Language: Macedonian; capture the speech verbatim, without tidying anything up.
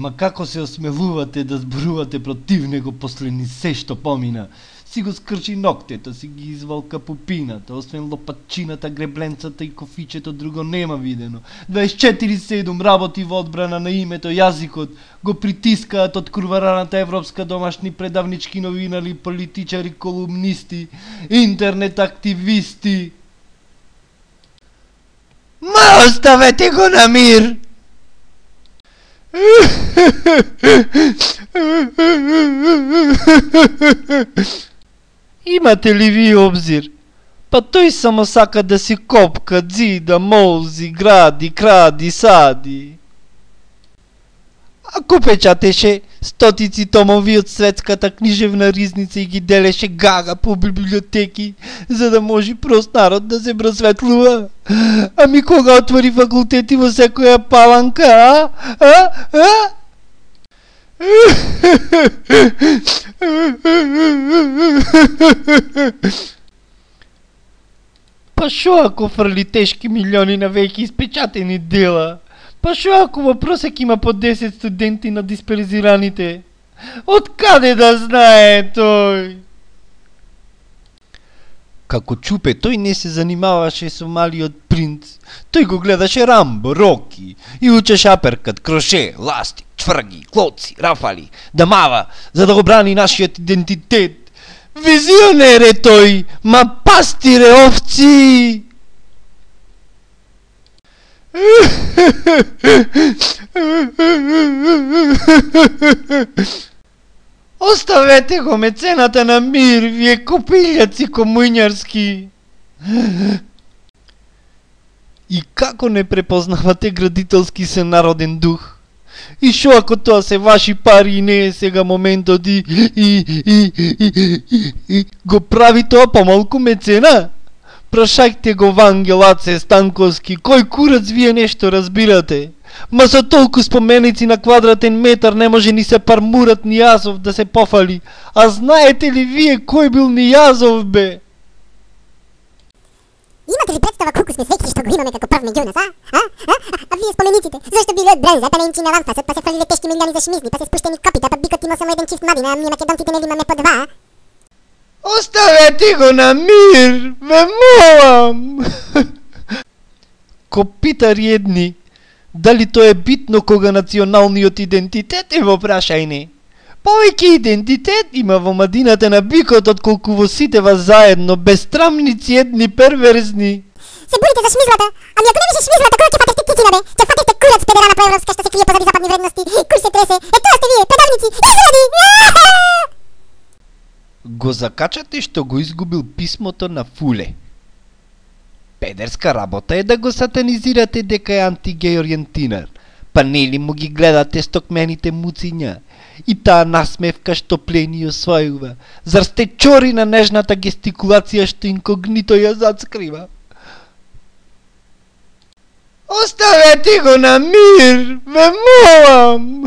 Ма како се осмелувате да зборувате против него после ни се што помина? Си го скрчи ноктето, си ги извалка пупината, освен лопачината, гребленцата и кофичето, друго нема видено. дваесет и четири седум работи во одбрана на името, јазикот, го притискаат од курвараната европска домашни предавнички новинари, политичари, колумнисти, интернет активисти. Ма оставете го на мир! Имате ли ви обзир? Па тој само сака да си копка, дзида, молзи, гради, кради, сади. Ако печатеше стотици томови од светската книжевна ризница и ги делеше гага по библиотеки, за да може прост народ да се просветлува. Ами кога отвори факултети во секоја паланка, а? А? А? Па шо ако фрли тешки милиони на веќе испечатени дела? Па шо ако во просек има по десет студенти на дисперзираните? Од каде да знае тој? Како чупе, тој не се занимаваше со малиот принц. Тој го гледаше Рамбо, Роки и учеше аперкат, кроше, ластик, чврги, клоци, рафали, да мава, за да го брани нашиот идентитет. Визионер е тој, ма пастире овци! Оставете го мецената на мир, вие копилјаци комуњарски. И како не препознавате градителски се народен дух? И шо ако тоа се ваши пари и не е сега моментот и, и, и, и, и, и го прави тоа помалку мецена? Прашајте го Вангел Аце Станковски, кој курац вие нешто разбирате? Ма со толку споменици на квадратен метар не може ни се пармурат Нијазов да се пофали. А знаете ли вие кој бил Нијазов, бе? Имате ли представа колку сме среќни што го имаме како прв меѓу нас, а? А? А? А вие спомениците, зашто били од бренза, па не им чина ламфасот, па се фрлиле тешки милиони за шмизни, па се спуштени копита, па бикот имал само еден чифт младина, а ние македонците нели имаме по два, а? Оставете го на мир, ве молам! Копитари едни, дали тоа е битно кога националниот идентитет е во прашајне? Повеќе идентитет има во мадината на бикот отколку во сите вас заедно, безсрамници едни перверзни. Се борите за шмизлата, ами ако не беше шмизлата, која ќе фатевте титина, бе? Ќе фатевте курац педерана проевропска што се крие позади западни вредности, кур се тресе, е тоа сте вие, предавници, изради! Го закачате што го изгубил писмото на Фуле. Педерска работа е да го сатанизирате дека е антигеј ориентинар, па нели му ги гледате стокмените муциња и таа насмевка што плени освојува. Зар сте чори на нежната гестикулација што инкогнито ја зацкрива? Оставете го на мир, ве молам!